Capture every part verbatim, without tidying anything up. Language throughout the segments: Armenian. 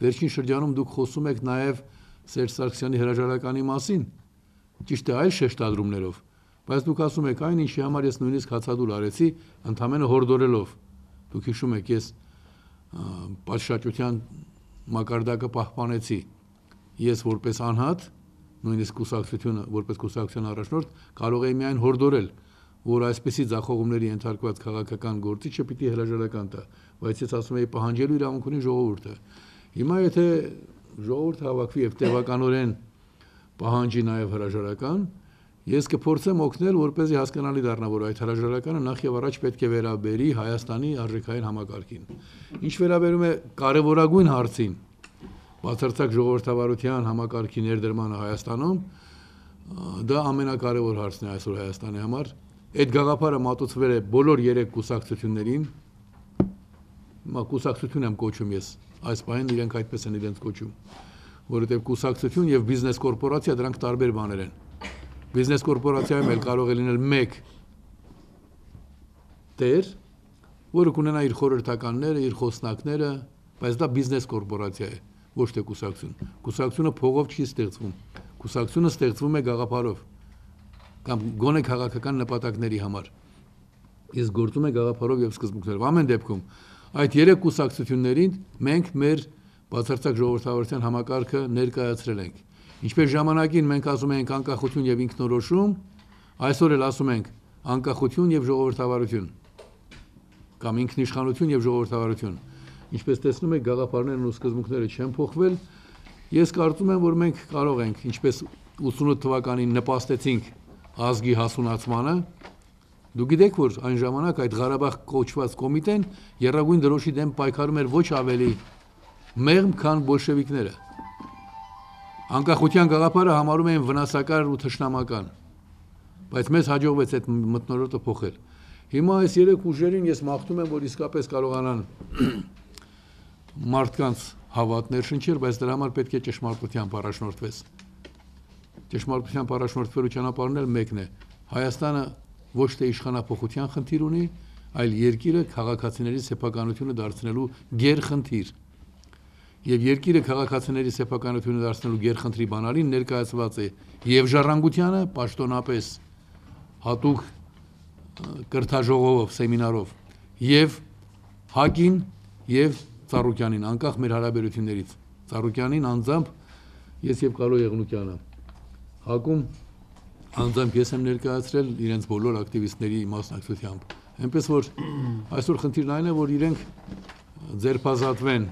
վերջին շրջանում դուք խոսում եք նաև Սերժ Սարգսյանի հրաժարականի մասին, ճիշտ է այլ շեշտադրումներով, բայց դուք ասում եք այն, ինչի համար ես նույնիսկ հացադուլ արեցի, ընդամենը հորդորելով։ Դուք հիշում եք, ես պատշաճության մակարդակը պահպանեցի։ Ես որպես անհատ, նույնիսկ կուսակցությունը, որպես կուսակցության առաջնորդ, կարող էի միայն հորդորել, որ այսպիսի ձախողումների ենթարկված քաղաքական գործիչը պիտի հրաժարական տա, բայց ես ասում էի պահանջելու իրավունք ունի ժողովուրդը։ Հիմա եթե ժողովուրդը հավաքվի եւ տևականորեն պահանջի նաեւ հրաժարական, ես կփորձեմ օգնել, որպեսզի հասկանալի դառնա, որ այդ հրաժարականը նախ եւ առաջ պետք է վերաբերի Հայաստանի արժեքային համակարգին։ Ինչ վերաբերում է կարևորագույն հարցին, բացարձակ ժողովրդավարության համակարգի ներդրմանը Հայաստանում, դա ամենակարևոր հարցն է այսօր Հայաստանի համար։ Այդ գաղափարը մատուցվել է բոլոր երեք կուսակցություններին, կուսակցություն եմ կոչում ես, այս պահին իրենք այդպես են իրենց կոչում, որովհետև կուսակցություն եւ բիզնես կորպորացիա դրանք տարբեր բաներ են։ Բիզնես կորպորացիայում էլ կարող է լինել մեկ տեր, որը կունենա իր խորհրդականները, իր խոսնակները, բայց դա բիզնես կորպորացիա է, ոչ թե կուսակցություն։ Կուսակցությունը փողով չի ստեղծվում։ Կուսակցությունը ստեղծվում է գաղափարով կամ գոնե քաղաքական նպատակների համար։ Իսկ գործում է գաղափարով եւ սկզբունքներով։ Ամեն դեպքում այդ երեք կուսակցություններին մենք մեր բացարձակ ժողովրդավարության համակարգը ներկայացրել ենք։ Ինչպես ժամանակին մենք ասում ենք անկախություն եւ ինքնորոշում, այսօր էլ ասում ենք անկախություն եւ ժողովրդավարություն կամ ինքնիշխանություն եւ ժողովրդավարություն։ Ինչպես տեսնում եք, գաղափարներն ու սկզբունքները չեն փոխվել։ Ես կարծում եմ, որ մենք կարող ենք, ինչպես ութսունութ թվականին նպաստեցինք ազգի հասունացմանը, դուք գիտեք, որ այն ժամանակ այդ Ղարաբաղ կոչված կոմիտեն եռագույն դրոշի դեմ պայքարում էր ոչ ավելի մեղմ, քան բոլշևիկները։ Անկախության գաղափարը համարում էին վնասակար ու թշնամական, բայց մեզ հաջողվեց այդ մթնոլորտը փոխել։ Հիմա այս երեք ուժերին ես մաղթում եմ, որ իսկապես կարողանան մարդկանց հավատ ներշնչել, բայց դրա համար պետք է ճշմարտությամբ առաջնորդվես։ Ճշմարտությամբ առաջնորդվելու ճանապարհն էլ մեկն է։ Հայաստանը ոչ թե իշխանափոխության խնդիր ունի, այլ երկիրը քաղաքացիների սեփականությունը դարձնելու գերխնդիր։ Եվ երկիրը քաղաքացիների սեփականությունը դարձնելու գերխնդրի բանալին ներկայացված է եւ ժառանգությանը պաշտոնապես հատուկ կրթաժողովով, սեմինարով եւ ՀԱԿ-ին եւ Ծառուկյանին, անկախ մեր հարաբերություններից։ Ծառուկյանին անձամբ ես եւ Կարո Եղնուկյանը, ՀԱԿ-ում անձամբ ես եմ ներկայացրել իրենց բոլոր ակտիվիստների մասնակցությամբ։ Այնպես որ այսօր խնդիրն այն է, որ իրենք ձերբազատվեն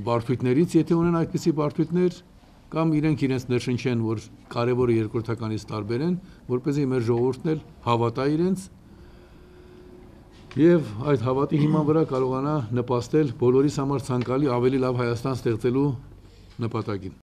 բարդույթներից, եթե ունեն այդպիսի բարդույթներ, կամ իրենք իրենց ներշնչեն, որ կարևորը երկրորդականից տարբեր են, որպեսզի մեր ժողովուրդն էլ հավատա իրենց եւ այդ հավատի հիման վրա կարողանա նպաստել բոլորիս համար ցանկալի ավելի լավ Հայաստան ստեղծելու նպատակին։